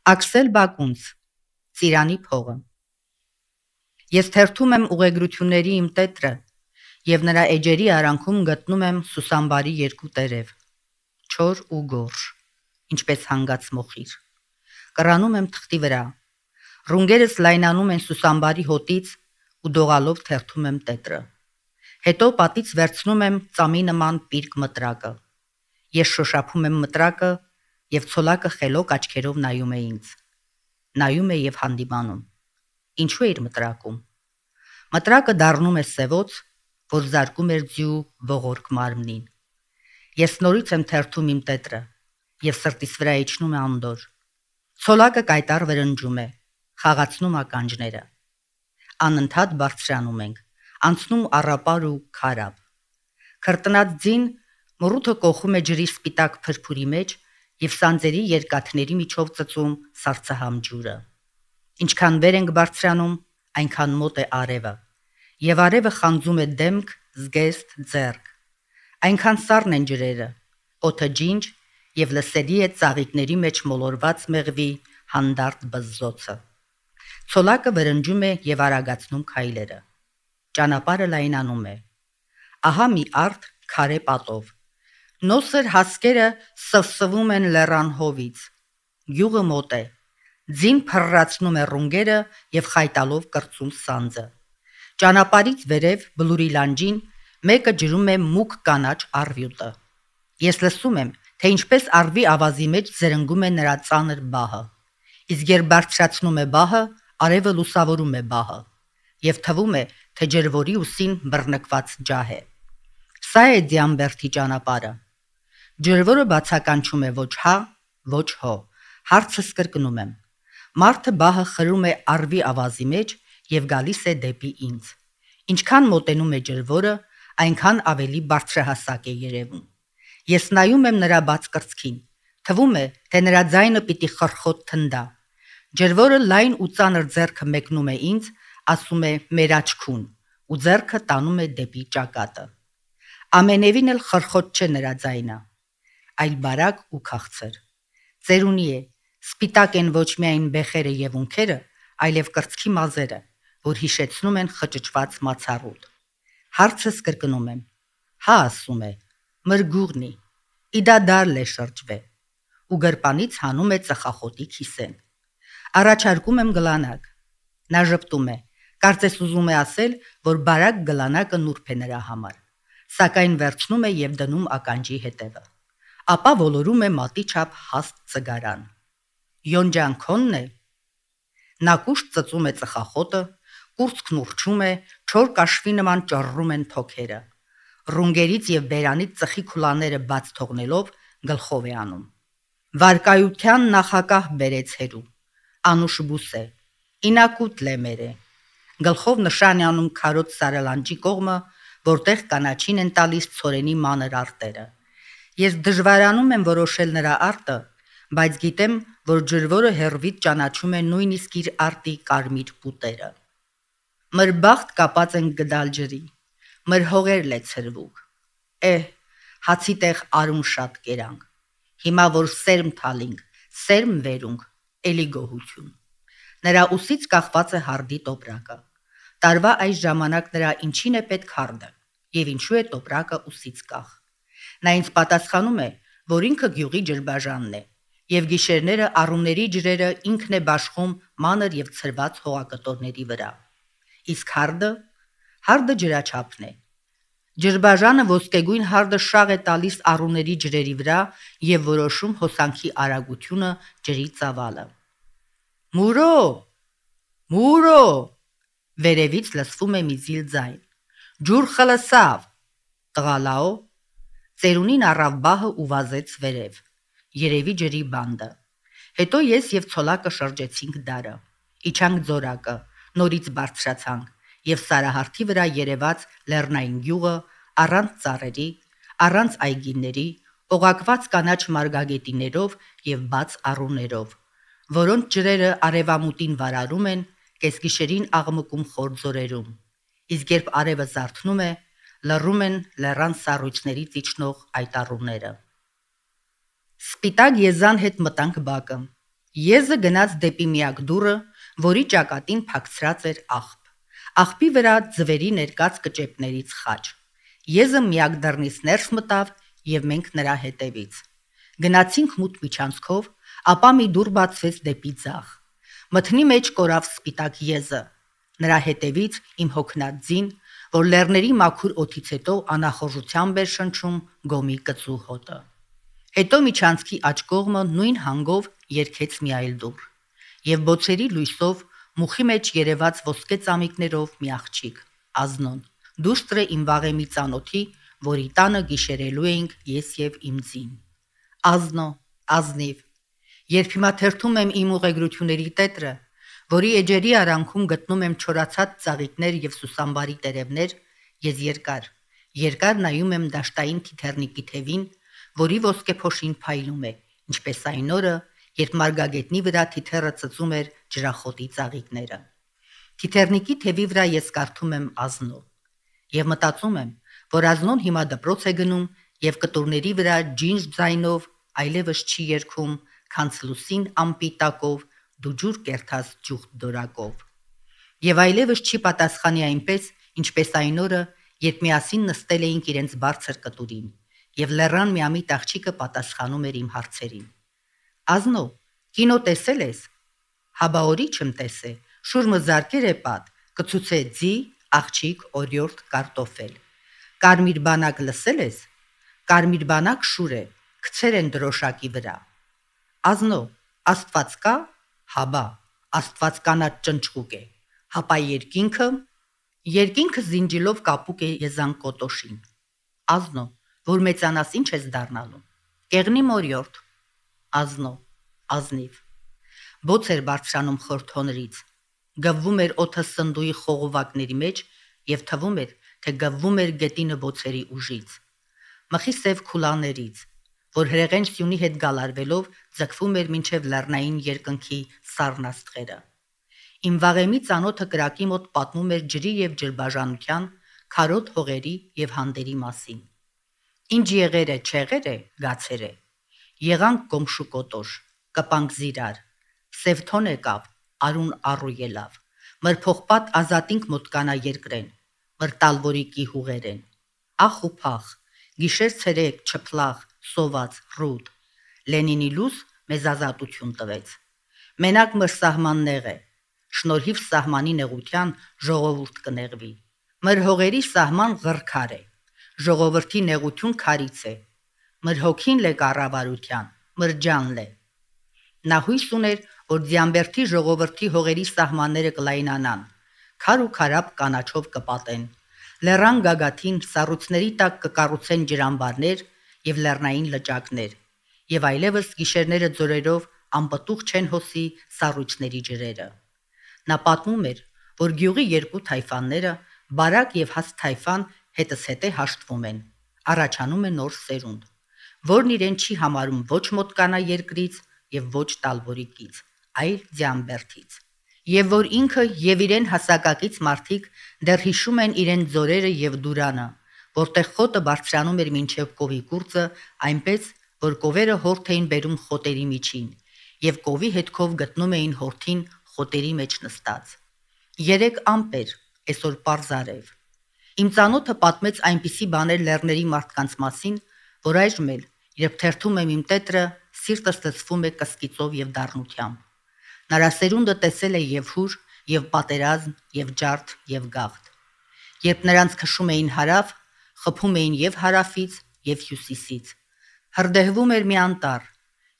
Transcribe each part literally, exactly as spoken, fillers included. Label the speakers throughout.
Speaker 1: Աքսել Բակունց, Ծիրանի փողը։ Ես թերթում եմ ուղեգրությունների իմ տետրը և նրա էջերի արանքում գտնում եմ Սուսամբարի երկու տերև, չոր ու գորշ, ինչպես հանգած մոխիր։ Կռանում եմ թղթի վրա, ռունգերս լայնանում են Սուսամբարի հոտից ու դողալով թերթում եմ տետրը։ Հետո պատից վերցնում եմ ծամի նման պիրկ մտրակը։ Ես շոշափում եմ մտրակը և ցոլակը խելոք աչքերով նայում է ինձ։ Նայում է և հանդիմանում։ Ինչու էիր մտրակում։ Մտրակը դառնում է սևոց, որ զարկում էր ձյու ողորկ մարմնին։ Ես նորից եմ թերթում իմ տետրը և սրտիս վրա իջնում է անդորր։ Ցոլակը կայտառ վրնջում է, խաղացնում ականջները։ Անընդհատ բարձրանում ենք, անցնում առապար ու քարափ։ Քրտնած ձին մռութը կոխում է ջրի սպիտակ փրփուրի մեջ և սանձերի երկաթների միջով ծծում սառցահամ ջուրը։ Ինչքան վեր ենք բարձրանում, այնքան մոտ է արևը, և արևը խանձում է դեմք, զգեստ, ձեռք։ Այնքան սառն են ջրերը, օդը ջինջ և լսելի է ծաղիկների մեջ մոլորված մեղվի հանդարտ բզզոցը։ Ցոլակը վրնջում է և արագացնում քայլերը։ Ճանապարհը լայնանում է։ Ահա մի արտ քարե պատով։ Նոսր հասկերը սվսվում են լեռան հովից։ Գյուղը մոտ է։ Ձին փռռացնում է ռունգերը և խայտալով կրծում սանձը։ Ճանապարհից վերև բլուրի լանջին մեկը ջրում է մուգ կանաչ առյուտը։ Ես լսում եմ, թե ինչպես առվի ավազի մեջ զրնգում է նրա ծանր բահը։ Իսկ երբ բարձրացնում է բահը, արևը լուսավորում է բահը, և թվում է, թե ջրվորի ուսին բռնկված ջահ է։ Սա է Դիամբերդի ճանապարհը։ Ջրվորը բացականչում է ոչ հա, ոչ հո։ Հարցս կրկնում եմ։ Մարդը բահը խրում է առվի ավազի մեջ և գալիս է դեպի ինձ։ Ինչքան մոտենում է ջրվորը, այնքան ավելի բարձրահասակ է երևում։ Ես նայում եմ նրա բաց կրծքին։ Թվում է, թե նրա ձայնը պիտի խռխոտ թնդա։ Ջրվորը լայն ու ծանր ձեռքը մեկնում է ինձ, ասում է մեր աչքուն, ու ձեռքը տանում է դեպի ճակատը։ Ամենևին էլ խռխոտ չէ նրա ձայնը, այլ բարակ ու քաղցր։ Ծերունի է, սպիտակ են ոչ միայն բեխերը և ունքերը, այլև կրծքի մազերը, որ հիշեցնում են խճճված մացառուտ։ Հարցս կրկնում եմ։ Հա, ասում է, մրգուղնի, իդա դար լե շրջվե, ու գրպանից հանում է ծխախոտի քիսեն։ Առաջարկում եմ գլանակ։ Նա ժպտում է, կարծես ուզում է ասել, որ բարակ գլանակը նուրբ է նրա համար, սակայն վերցնում է և դնում ականջի հետևը։ Ապա ոլորում է մատի չափ հաստ ծգարան։ Յոնջան քոնն է։ Նա կուշտ ծծում է ծխախոտը, կուրծքն ուռչում է, չոր կաշվի նման ճռռում են թոքերը։ Ռունգերից և բերանից ծխի քուլաները բաց թողնելով գլխով է անում։ Վարկայության նախակահ բերեց հերու։ Անուշ բուսե։ Ինակուտ լեմերը։ Գլխով նշան է անում քարոտ սարալանջի կողմը, որտեղ կանաչին են տալիս ցորենի մանր արտերը։ Ես դժվարանում եմ որոշել նրա արտը, բայց գիտեմ, որ ջրվորը հեռվից ճանաչում է նույնիսկ իր արտի կարմիր պուտերը։ Մր բախտ կապած ենք գդալ ջրի, մր հողեր լե ցրվուկ։ Էհ, հացի տեղ արուն շատ կերանք։ Հիմա որ սերմ թալինք, սերմ վերունք, էլի գոհություն։ Նրա ուսից կախված է հարդի տոպրակը։ Տարվա այս ժամանակ նրա ինչին է պետք հարդը, և ինչու է տոպրակը ուսից կախ։ Նա ինձ պատասխանում է, որ ինքը գյուղի ջրբաժանն է, և գիշերները առուների ջրերը ինքն է բաշխում մանր և ցրված հողակտորների վրա։ Իսկ հարդը, հարդը ջրաչափն է։ Ջրբաժանը ոսկեգույն հարդը շաղ է տալիս առուների ջրերի վրա և որոշում հոսանքի արագությունը, ջրի ծավալը։ Մուրո, մուրո, վերևից լսվում է մի զիլ ձայն։ Ջուր խլսավ, տղալաո։ Ծերունին առավ բահը ու վազեց վերև։ Երևի ջրի բանդը։ Հետո ես և ցոլակը շրջեցինք դարը։ Իջանք ձորակը, նորից բարձրացանք, և սարահարթի վրա երևաց լեռնային գյուղը, առանց ծառերի, առանց այգիների, օղակված կանաչ մարգագետիններով և բաց առուներով, որոնց ջրերը արևամուտին վարարում են, կեսգիշերին աղմկում խոր ձորերում, իսկ երբ արևը զարթնում է, լռում են լեռան սառույցներից իջնող այդ առուները։ Սպիտակ եզան հետ մտանք բակը։ Եզը գնաց դեպի միակ դուռը, որի ճակատին փակցրած էր աղբ։ Աղբի վրա ձվերի ներկած կճեպներից խաչ։ Եզը միակ դռնից ներս մտավ եւ մենք նրա հետևից։ Գնացինք մութ միջանցքով, ապա մի դուռ բացվեց դեպի ձախ։ Մթնի մեջ կորավ սպիտակ եզը։ Նրա հետևից իմ հոգնած ձին, որ լեռների մաքուր օդից հետո անախորժությամբ էր շնչում գոմի կծու հոտը։ Հետո միջանցքի աջ կողմը նույն հանգով երգեց մի այլ դուռ, եւ բոցերի լույսով մուխի մեջ երևաց ոսկե ծամիկներով մի աղջիկ, Ազնոն, դուստր է իմ վաղեմի ծանոթի, որի տանը գիշերելու էինք ես եւ իմ ձին։ Ազնո, ազնիվ, երբ հիմա թերթում եմ իմ ուղեգրությունների տետրը, որի էջերի արանքում գտնում եմ չորացած ծաղիկներ եւ սուսամբարի տերևներ, ես երկար, երկար նայում եմ դաշտային թիթեռնիկի թևին, որի ոսկե փոշին փայլում է, ինչպես այն օրը, երբ մարգագետնի վրա թիթեռը ծծում էր ջրախոտի ծաղիկները։ Թիթեռնիկի թևի վրա ես կարդում եմ Ազնո եւ մտածում եմ, որ Ազնոն հիմա դպրոց է գնում եւ կտուրների վրա ջինջ ձայնով այլևս չի երգում, քան լուսին ամպի տակով դու ջուր կերթած ջուխտ դորակով։ Եվ այլևս չի պատասխանի այնպես, ինչպես այն օրը, երբ միասին նստել էինք իրենց բարձր կտուրին, եւ լեռան միամիտ աղջիկը պատասխանում էր իմ հարցերին։ Ազնո, կինո տեսել ես։ Հաբա օրի չեմ տեսե, շուրմը զարկեր է պատ, կցուցե ձի, աղջիկ, օրյորդ, կարտոֆել։ Կարմիր բանակ լսել ես։ Կարմիր բանակ շուր է, գցեր են դրոշակի վրա։ Ազնո, Աստված կա։ Հաբա, Աստված կանաչ ճնճղուկ է։ Հապա երկինքը։ Երկինքը զինջիլով կապուկ է եզան կոտոշին։ Ազնո, որ մեծանաս ինչ ես դառնալու։ Կեղնի մորյորդ։ Ազնո, ազնիվ։ Բոց էր բարձրանում խորթոներից։ Գվվում էր օդը սնդուի խողովակների մեջ եւ թվում էր, թե գվվում էր գետինը բոցերի ուժից։ Մխի սև քուլաներից, որ հրեղեն սյունի հետ գալարվելով ձգվում էր մինչև լեռնային երկնքի սառնաստղերը։ Իմ վաղեմի ծանոթը կրակի մոտ պատմում էր ջրի եւ ջրբաժանության, քարոտ հողերի եւ հանդերի մասին։ Ինչ եղեր է, չեղեր է, գացեր է։ Եղանք գոմշու կոտոշ, կպանք զիրար, սևթոն եկավ, արուն առու ելավ, մրփոխպատ ազատինք մոտկանա երկրեն, մրտալվորիկի հուղերեն, ախ ու փախ, գիշեր ցերեկ, չփլախ, սոված, ռուտ, Լենինի լույս մեզ ազատություն տվեց։ Մենակ մր սահմաններ է, շնորհիվ սահմանի նեղության ժողովուրդ կնեղվի, մր հողերի սահման ղրքար է, ժողովրդի նեղություն քարից է, մր հոգին լե կառավարության, մր ջանն է։ Նա հույս ուներ, որ Ձիամբերդի ժողովրդի հողերի սահմանները կլայնանան, քար ու քարապ կանաչով կպատեն, լեռան գագաթին սառույցների տակ կկառուցեն ջրամբարներ եւ լեռնային լճակներ, եւ այլևս գիշերները ձորերով անպտուղ չեն հոսի սառույցների ջրերը։ Նա պատմում էր, որ գյուղի երկու թայֆանները, Բարակ եւ Հաս թայֆան, հետս հետե հաշտվում են, առաջանում է նոր սերունդ, որն իրեն չի համարում ոչ մոտկանա երկրից եւ ոչ տալվորիկից, այլ Ձիամբերդից, եւ որ ինքը եւ իրեն հասակակից մարդիկ դեռ հիշում են իրեն ձորերը եւ դուրանը, որտեղ խոտը բարձրանում էր մինչեւ կովի կուրծը, այնպես որ կովերը հորթ էին բերում խոտերի միջին, եւ կովի հետքով գտնում էին հորթին խոտերի մեջ նստած։ Երեք ամպեր, այսօր պարզարև։ Իմ ծանոթը պատմեց այնպիսի բաներ լեռների մարդկանց մասին, որ այժմ էլ, երբ թերթում եմ իմ տետրը, սիրտս ծծվում է կսկիծով եւ դառնությամբ։ Նրա սերունդը տեսել է եւ հուր, եւ պատերազմ, եւ ջարդ, եւ գաղթ։ Երբ նրանց քշում էին հարավ, խփում էին եւ հարավից, եւ հյուսիսից։ Հրդեհվում էր մի անտառ,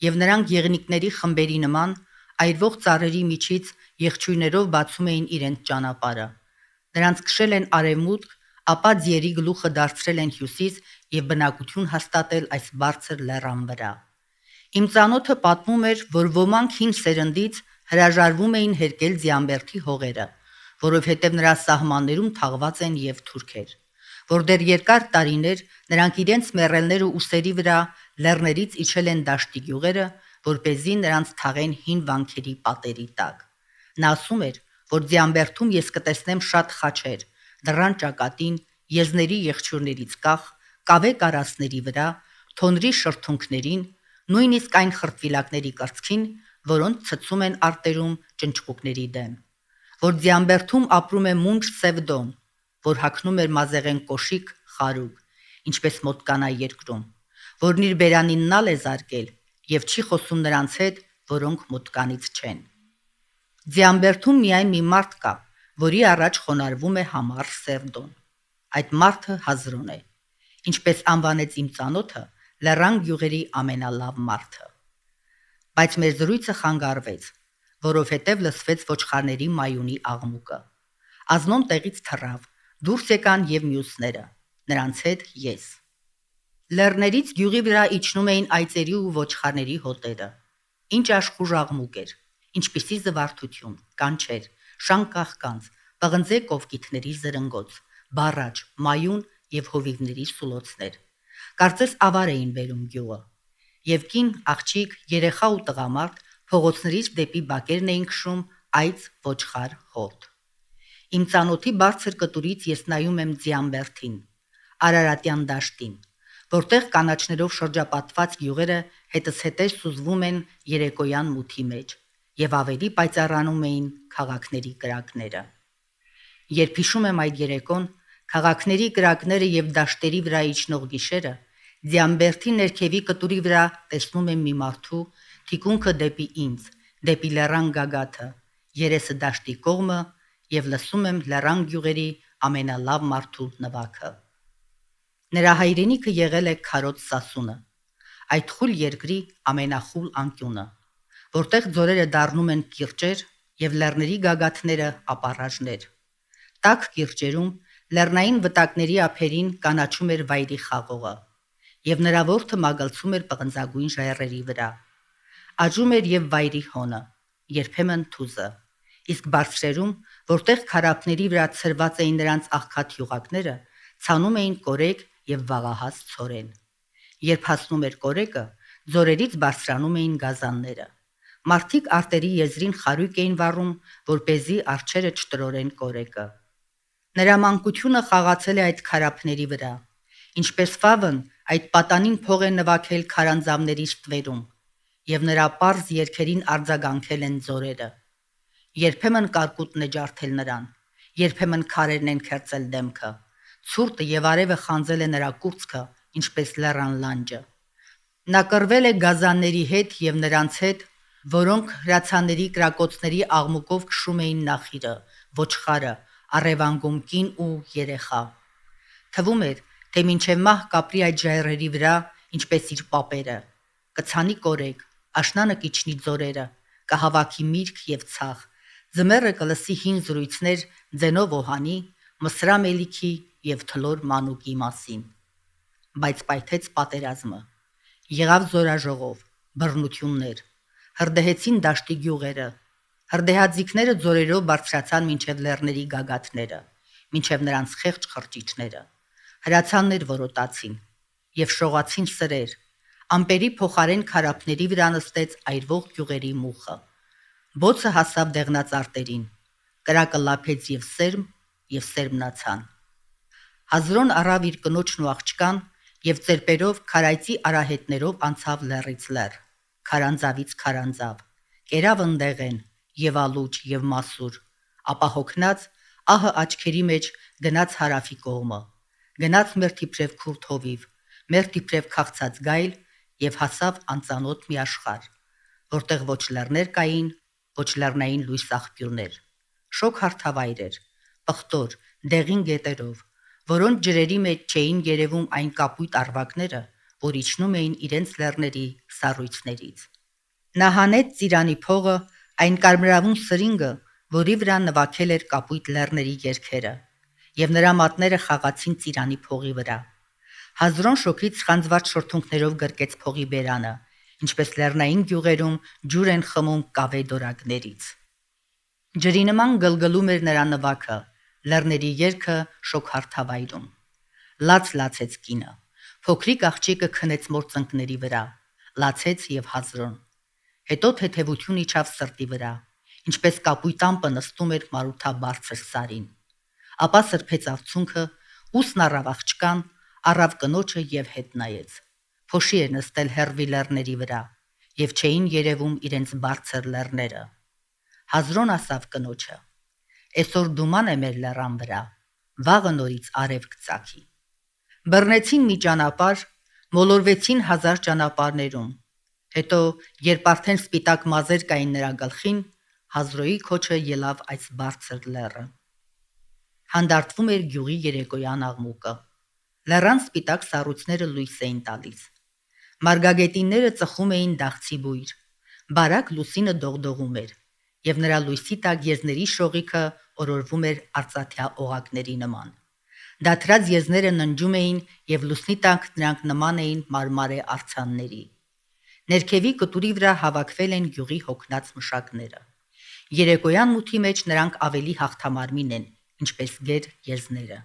Speaker 1: եւ նրանք եղնիկների խմբերի նման այրվող ծառերի միջից եղջույրներով բացում էին իրենց ճանապարհը։ Նրանց քշել են արևմուտք, ապա ձիերի գլուխը դարձրել են հյուսիս եւ բնակություն հաստատել այս բարձր լեռան վրա։ Իմ ծանոթը պատմում էր, որ ոմանք հին սերնդից հրաժարվում էին հերկել Ձիամբերդի հողերը, որովհետև նրա սահմաններում թաղված են եւ թուրքեր, որ դեռ երկար տարիներ նրանք իրենց մեռելները ուսերի վրա լեռներից իջել են դաշտի գյուղերը, որպեսզի նրանց թաղեն հին վանքերի պատերի տակ։ Նա ասում էր, որ Ձիամբերդում ես կտեսնեմ շատ խաչեր, դռան ճակատին, եզների եղջյուրներից կախ, կավե կարասների վրա, թոնրի շրթունքներին, նույնիսկ այն խրտվիլակների կրծքին, որոնց ցցում են արտերում ճնճղուկների դեմ, որ ձիամբերդում ապրում է մունջ սևդոն, որ հագնում էր մազեղեն կոշիկ խարուկ, ինչպես մոտկանա երկրում, որն իր բերանին նալ է զարկել եւ չի խոսում նրանց հետ, որոնք մոտկանից չեն։ Ձիամբերդում միայն մի մարդ կա, որի առաջ խոնարհվում է համառ սևդոն։ Այդ մարդը Հազրոն է, ինչպես անվանեց իմ ծանոթը լեռան գյուղերի ամենալավ մարդը։ Բայց մեր զրույցը խանգարվեց, որովհետև լսվեց ոչխարների մայունի աղմուկը։ Ազնոն տեղից թռավ, դուրս եկան եւ մյուսները, նրանց հետ ես։ Լեռներից գյուղի վրա իջնում էին այծերի ու ոչխարների հոտերը։ Ինչ աշխուժ աղմուկ էր, ինչպիսի զվարթություն, կանչեր, շանկ-կաղկանց, պղնձե կովկիթների զրնգոց, բառաջ, մայուն եւ հովիվների սուլոցներ։ Կարծես ավար էին բերում գյուղը։ Եվ կին, աղջիկ, երեխա ու տղամարդ փողոցներից դեպի բակերն էին քշում այծ ոչխար հոտ։ Իմ ծանոթի բարձր կտուրից ես նայում եմ Ձիամբերդին, Արարատյան դաշտին, որտեղ կանաչներով շրջապատված գյուղերը հետզհետե սուզվում են երեկոյան մութի մեջ եւ ավելի պայծառանում էին քաղաքների կրակները։ Երբ հիշում եմ այդ երեկոն, քաղաքների կրակները եւ դաշտերի վրա իջնող գիշերը, Ձիամբերդի ներքևի կտուրի վրա տեսնում եմ մի մարդու թիկունքը դեպի ինձ, դեպի լեռան գագաթը, երեսը դաշտի կողմը եւ լսում եմ լեռան գյուղերի ամենալավ մարդու նվագը։ Նրա հայրենիքը եղել է Քարոց Սասունը, այդ խուլ երկրի ամենախուլ անկյունը, որտեղ ձորերը դառնում են կիրճեր եւ լեռների գագաթները ապառաժներ։ Տաք կիրճերում լեռնային վտակների ափերին կանաչում էր վայրի խաղողը, եւ նրա որդը մագլցում էր պղնձագույն ժայռերի վրա։ Աճում էր եւ վայրի հոնը, երբեմն թուզը, իսկ բարձրերում, որտեղ քարափների վրա ցրված էին նրանց աղքատ յուղակները, ցանում էին կորեկ եւ վաղահաս ցորեն։ Երբ հասնում էր կորեկը, ձորերից բարձրանում էին գազանները։ Մարդիկ արտերի եզրին խարույկ էին վառում, որպեսզի արջերը չտրորեն կորեկը։ Նրա մանկությունը խաղացել է այդ քարափների վրա, ինչպես Ֆավն այդ պատանին փող է նվագել քարանձավների ստվերում, եւ նրա պարզ երգերին արձագանքել են ձորերը։ Երբեմն կարկուտն է ջարդել նրան, երբեմն քարերն են քերծել դեմքը, ցուրտը եւ արևը խանձել է նրա կուրծքը, ինչպես լեռան լանջը։ Նա կռվել է գազանների հետ եւ նրանց հետ, որոնք հրացաների կրակոցների աղմուկով քշում էին նախիրը, ոչխարը, առևանգում կին ու երեխա։ Թվում էր, թե մինչև մահ կապրի այդ ժայռերի վրա, ինչպես իր պապերը, կցանի կորեկ, աշնանը կիջնի ձորերը, կհավաքի միրգ եւ ցախ, ձմեռը կլսի հին զրույցներ ձենով օհանի, մսրամելիքի եւ թլոր մանուկի մասին։ Բայց պայթեց պատերազմը։ Եղավ զորաժողով, բռնություններ, հրդեհեցին դաշտի գյուղերը, հրդեհաձիգները ձորերով բարձրացան մինչև լեռների գագաթները, մինչև նրանց խեղճ խրճիչները, հրացաններ որոտացին եւ շողացին սրեր, ամպերի փոխարեն քարափների վրա նստեց այրվող գյուղերի մուխը։ Բոցը հասավ դեղնած արտերին, կրակը լափեց եւ սերմ, եւ սերմնացան։ Հազրոն առավ իր կնոջն ու աղջկան եւ ծերպերով քարայծի արահետներով անցավ լեռից լեռ, քարանձավից քարանձավ, կերավ ընդեղեն եւ ալուճ եւ մասուր, ապա հոգնած ահը աչքերի մեջ գնաց հարավի կողմը, գնաց մեր թիփրև քուրդ հովիվ, մեր թիփրև քաղցած գայլ եւ հասավ անծանոթ մի աշխարհ, որտեղ ոչ լեռներ կային, ոչ լեռնային լույս աղբյուրներ, շոգ հարթավայր էր, պղտոր, դեղին գետերով, որոնց ջրերի մեջ չէին երևում այն կապույտ արվակները, որ իջնում էին իրենց լեռների սառույցներից։ Նա հանեց ծիրանի փողը, այն կարմրավուն սրինգը, որի վրա նվագել էր կապույտ լեռների երգերը, եւ նրա մատները խաղացին ծիրանի փողի վրա։ Հազրոն շոքից խանձված շորթունքներով գրկեց փողի բերանը, ինչպես լեռնային գյուղերում ջուր են խմում կավե դորակներից։ Ջրի նման գլգլում էր նրա նվագը, լեռների երգը շոգ հարթավայրում։ Լաց լացեց կինը, փոքրիկ աղջիկը քնեց մոր ծնկների վրա, լացեց եւ Հազրոն։ Հետո թեթևություն իջավ սրտի վրա, ինչպես կապույտ ամպը նստում էր մարութաբարձր սարին։ Ապա սրբեց արցունքը, ուսն առավ աղջկան, առավ կնոջը եւ հետ նայեց։ Փոշի էր նստել հերվի լեռների վրա, եւ չէին երևում իրենց բարձր լեռները։ Հազրոն ասավ կնոջը. «Այսօր դուման է մեր լեռան վրա, վաղը նորից արև կծագի»։ Բռնեցին մի ճանապարհ, մոլորվեցին հազար ճանապարհներում։ Հետո, երբ արդեն սպիտակ մազեր կային նրա գլխին, Հազրոյի քոչը ելավ այս բարձր լեռը։ Հանդարտվում էր գյուղի երեկոյան աղմուկը։ Լեռան սպիտակ սառույցները լույս էին տալիս։ Մարգագետինները ծխում էին դաղցի բույր։ Բարակ լուսինը դողդողում էր, եւ նրա լույսի տակ եզների շողիքը օրորվում էր արծաթյա օղակների նման։ Դաթրած եզները ննջում էին եւ լուսնի տակ նրանք նման էին մարմարե արցանների։ Ներքևի կտուրի վրա հավաքվել են գյուղի հոգնած մշակները։ Երեկոյան մութի մեջ նրանք ավելի հաղթամարմին են, ինչպես գեր եզները։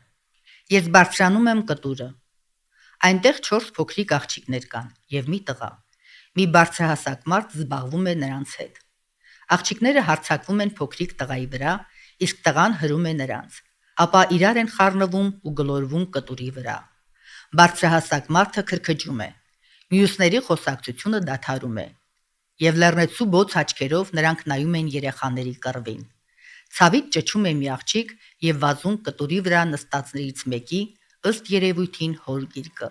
Speaker 1: Ես բարձրանում եմ կտուրը։ Այնտեղ չորս փոքրիկ աղջիկներ կան եւ մի տղա։ Մի բարձրահասակ մարդ զբաղվում է նրանց հետ։ Աղջիկները հարձակվում են փոքրիկ տղայի վրա, իսկ տղան հրում է նրանց, ապա իրար են խառնվում ու գլորվում կտուրի վրա։ Բարձրահասակ մարդը քրքջում է։ Մյուսների խոսակցությունը դադարում է։ Եվ լեռնեցու բոց աչքերով նրանք նայում են երեխաների կռվին։ Ցավից ճչում է մի աղջիկ եւ վազում կտուրի վրա նստածներից մեկի, ըստ երևույթին հոր գիրկը։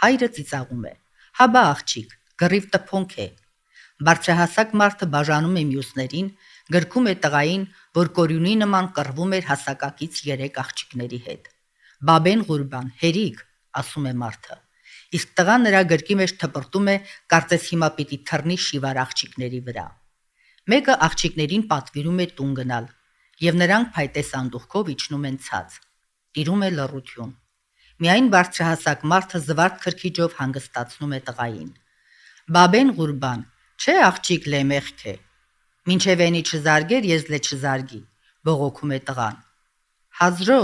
Speaker 1: Հայրը ծիծաղում է. «Հաբա աղջիկ, գրիվ տփոնք է»։ Բարձրահասակ մարդը բաժանում է մյուսներին, գրքում է տղային, որ կորյունի նման կռվում էր հասակակից երեք աղջիկների հետ։ «Բաբեն Ղուրբան, հերիկ», ասում է մարդը։ Իսկ տղան նրա գրկի մեջ թպրտում է, կարծես հիմա պիտի թռնի շիվար աղջիկների վրա։ Մեկը աղջիկներին պատվիրում է տուն գնալ, եւ նրանք փայտե սանդուղքով իջնում են ցած։ Տիրում է լռություն։ Միայն բարձրահասակ մարդը զվարթ քրքիջով հանգստացնում է տղային։ «Բաբեն Ղուրբան, չէ աղջիկ լե մեղք է։ Մինչև էնի չզարգեր, ես լե չզարգի», բողոքում է տղան։ «Հազրո»,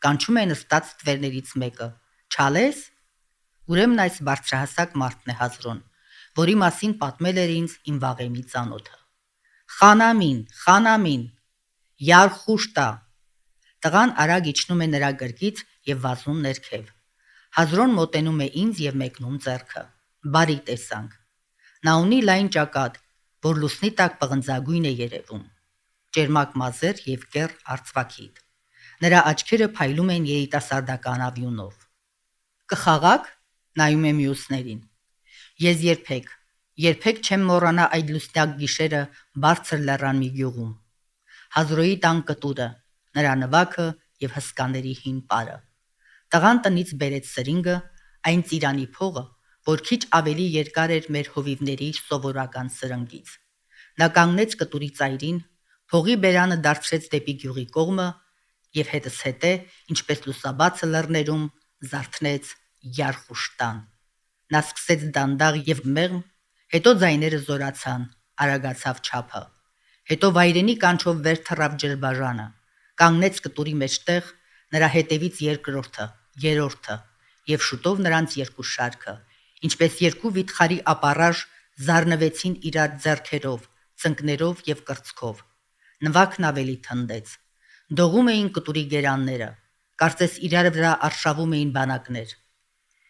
Speaker 1: կանչում է նստած ստվերներից մեկը, «Չալես»։ Ուրեմն այս բարձրահասակ մարդն է Հազրոն, որի մասին պատմել էր ինձ իմ վաղեմի ծանոթը։ «Խանամին, խանամին, յար խուշտա»։ Տղան արագ իջնում է նրա գրկից եւ վազում ներքև։ Հազրոն մոտենում է ինձ եւ մեկնում ձեռքը։ Բարի տեսանք։ Նա ունի լայն ճակատ, որ լուսնի տակ պղնձագույն է երևում։ Ճերմակ մազեր եւ կեռ արծվաքիթ։ Նրա աչքերը փայլում են երիտասարդական ավյունով։ «Կխաղաք»։ Նայում է մյուսներին։ Ես երբեք, երբեք չեմ մոռանա այդ լուսնյակ գիշերը բարձր լեռան մի գյուղում։ Հազրոյի տան կտուրը, նրա նվաքը եւ հսկաների հին պարը։ Տղան տնից բերեց սրինգը, այն ծիրանի փողը, որ քիչ ավելի երկար էր մեր հովիվների սովորական սրնգից։ Նա կանգնեց կտուրի ծայրին, փողի բերանը դարձրեց դեպի գյուղի կողմը եւ հետս հետե, ինչպես լուսաբացը լեռներում, զարթնեց Յարխուշտան։ Նա սկսեց դանդաղ եւ մեղմ, հետո ձայները զորացան, արագացավ չափը։ Հետո վայրենի կանչով վեր թռավ ջրբաժանը, կանգնեց կտուրի մեջտեղ, նրա հետևից երկրորդը, երրորդը եւ շուտով նրանց երկու շարքը, ինչպես երկու վիթխարի ապառաժ զառնվեցին իրար ձեռքերով, ծնկներով եւ կրծքով։ Նվակն ավելի թնդեց։ Դողում էին կտուրի գերանները, կարծես իրար վրա արշավում էին բանակներ։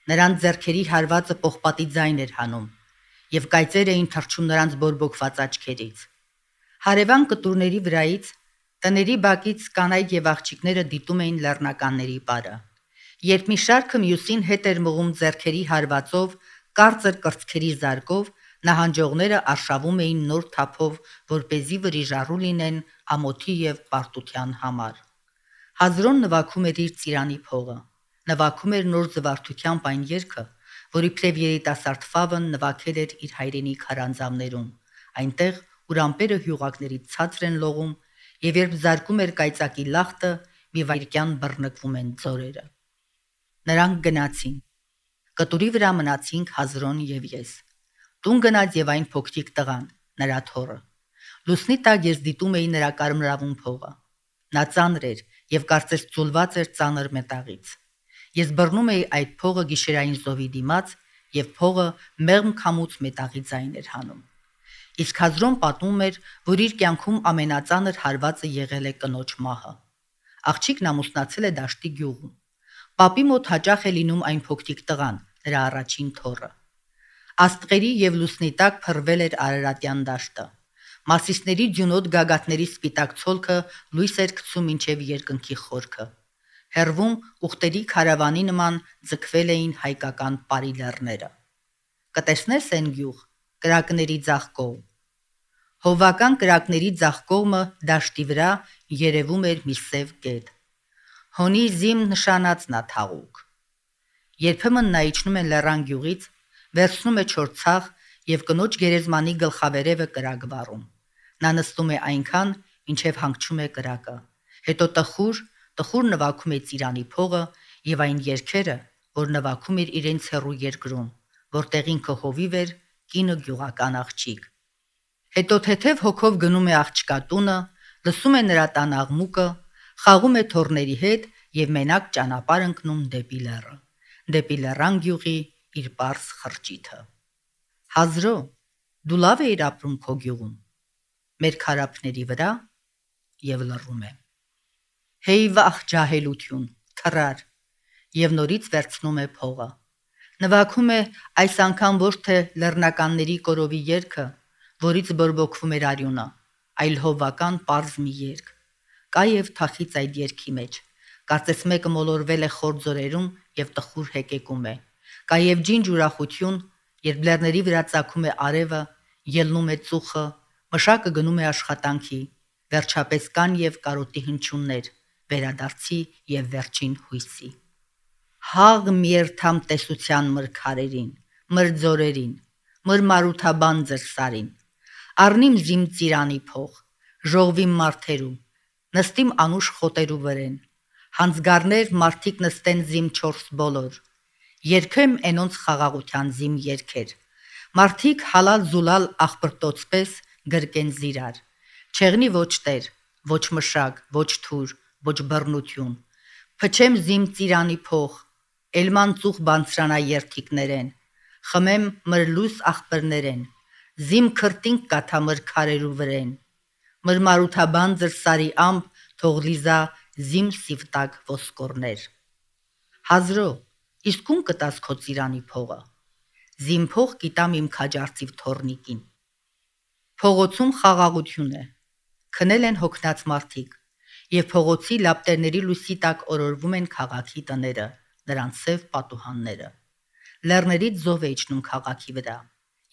Speaker 1: Նրանց ձեռքերի հարվածը պողպատի ձայն էր հանում, եւ կայծեր էին թռչում նրանց բորբոքված աչքերից։ Հարևան կտուրների վրայից, տների բակից կանայք եւ աղջիկները դիտում էին լեռնականների պարը։ Երբ մի շարքը մյուսին հետ էր մղում ձեռքերի հարվածով, կարծր կրծքերի զարկով, նահանջողները արշավում էին նոր թափով, որպեսզի վրիժառու լինեն ամոթի եւ պարտության համար։ Հազրոն նվագում էր իր ծիրանի փողը, նվագում էր նոր զվարթությամբ այն երգը, որ իբրև երիտասարդ Ֆավն նվագել էր իր հայրենի քարանձավներում, այնտեղ, ուր ամպերը հյուղակներից ցածր են լողում, եւ երբ զարկում էր կայծակի լախտը, մի վայրկյան բռնկվում են ձորերը։ Նրանք գնացին։ Կտուրի վրա մնացինք Հազրոն եւ ես։ Տուն գնաց եւ այն փոքրիկ տղան, նրա թոռը։ Լուսնի տակ ես դիտում էի նրա կարմրավուն փողը։ Նա ծանր էր եւ կարծես ծուլված էր ծանր մետաղից։ Ես բռնում էի այդ փողը գիշերային զովի դիմաց եւ փողը մեղմ քամուց մետաղի ձայն էր հանում։ Իսկ Հազրոն պատմում էր, որ իր կյանքում ամենածանր հարվածը եղել է կնոջ մահը։ Աղջիկն ամուսնացել է դաշտի գյուղում։ Պապի մոտ հաճախ է լինում այն փոքրիկ տղան, նրա առաջին թոռը։ Աստղերի եւ լուսնի տակ փռվել էր Արարատյան դաշտը։ Մասիսների ձյունոտ գագաթների սպիտակ ցոլքը լույս էր գցում մինչև երկնքի խորքը։ Հերվում ուխտերի քարավանի նման ձգվել էին հայկական պարի լեռները։ Կտեսնես են գյուղ, կրակների ձախ կողմ։ Հովվական կրակների ձախ կողմը դաշտի վրա երևում էր մի սև գետ։ Հոնի զիմ նշանածն ա թաղուկ։ Երբեմն նա իջնում է լեռան գյուղից, վերցնում է չոր ցախ եւ կնոջ գերեզմանի գլխավերևը կրակ վառում։ Նա նստում է այնքան, մինչև հանգչում է կրակը։ Հետո տխուր, տխուր նվագում է ծիրանի փողը եւ այն երգերը, որ նվագում էր իրենց հեռու երկրում, որտեղ ինքը հովիվ էր, կինը գյուղական աղջիկ։ Հետո թեթև հոգով գնում է աղջկա տունը, լսում է նրա տան աղմուկը, խաղում է թոռների հետ եւ մենակ ճանապարհ ընկնում դեպի լեռը, դեպի լեռան գյուղի իր պարզ խրճիթը։ Հազրո, դու լավ էիր ապրում քո գյուղում, մեր քարափների վրա, եւ լռում է։ Հեյ վախ ջահելություն, թռար, եւ նորից վերցնում է փողը։ Նվագում է այս անգամ ոչ թե լեռնականների կորովի երգը, որից բորբոքվում էր արյունը, այլ հովվական պարզ մի երգ։ Կա եւ թախից այդ երգի մեջ։ Կարծես մեկը մոլորվել է խոր ձորերում եւ տխուր հեկեկում է։ Կա եւ ջինջ ուրախություն, երբ լեռների վրա ծագում է արևը, ելնում է ծուխը, մշակը գնում է աշխատանքի, վերջապես կան եւ կարոտի հնչյուններ, վերադարձի եւ վերջին հույսի։ Հաղ միերթամ տեսության մր քարերին, մր ձորերին, մր մարութաբան ձեր սարին։ Առնիմ զիմ ծիրանի փող, ժողվիմ մարդերու, նստիմ անուշ խոտերու վրեն։ Հանձգարներ մարդիկ նստեն զիմ չորս բոլոր։ Երգեմ էնոնց խաղաղության զիմ երգեր։ Մարդիկ հալալ զուլալ աղբրտոցպես գրկեն զիրար։ Չեղնի ոչ տեր, ոչ մշակ, ոչ թուր, ոչ բռնություն։ Փչեմ զիմ ծիրանի փող, էլման ծուխ բանցրանա երթիկներեն, խմեմ մրլուս աղբրներեն, զիմ քրտինք կաթա մր քարերու վրեն, մր մարութաբան ձր սարի ամբ թող լիզա զիմ սիվտակ ոսկորներ։ Հազրո, իսկ ում կտաս քո ծիրանի փողը։ Զիմ փող կիտամ իմ քաջարծիվ թորնիկին։ Փողոցում խաղաղություն է։ Քնել են հոգնած մարդիկ, եւ փողոցի լապտերների լույսի տակ օրորվում են քաղաքի տները, նրանց սև պատուհանները։ Լեռներից զով է իջնում քաղաքի վրա,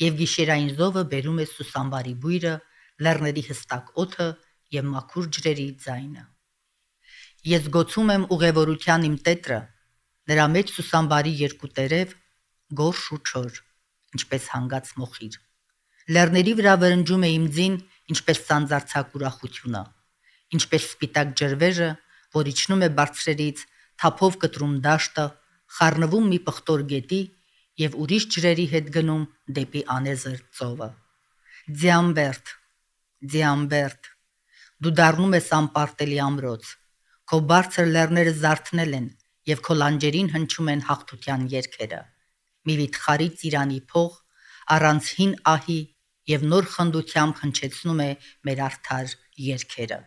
Speaker 1: եւ գիշերային զովը բերում է սուսամբարի բույրը, լեռների հստակ օդը եւ մաքուր ջրերի ձայնը։ Ես գոցում եմ ուղևորության իմ տետրը, նրա մեջ սուսամբարի երկու տերև, գորշ ու չոր, ինչպես հանգած մոխիր։ Լեռների վրա վրնջում է իմ ձին, ինչպես սանձարձակ ուրախությունը, ինչպես սպիտակ ջրվեժը, որ իջնում է բարձրերից, թափով կտրում դաշտը, խառնվում մի պղտոր գետի եւ ուրիշ ջրերի հետ գնում դեպի անեզր ծովը։ Ձիամբերդ, Ձիամբերդ, դու դառնում ես անպարտելի ամրոց, քո բարձր լեռները զարթնել են եւ քո լանջերին հնչում են հաղթության երգերը։ Մի վիթխարի ծիրանի փող առանց հին ահի եւ նոր խնդությամբ հնչեցնում է մեր արդար երգերը։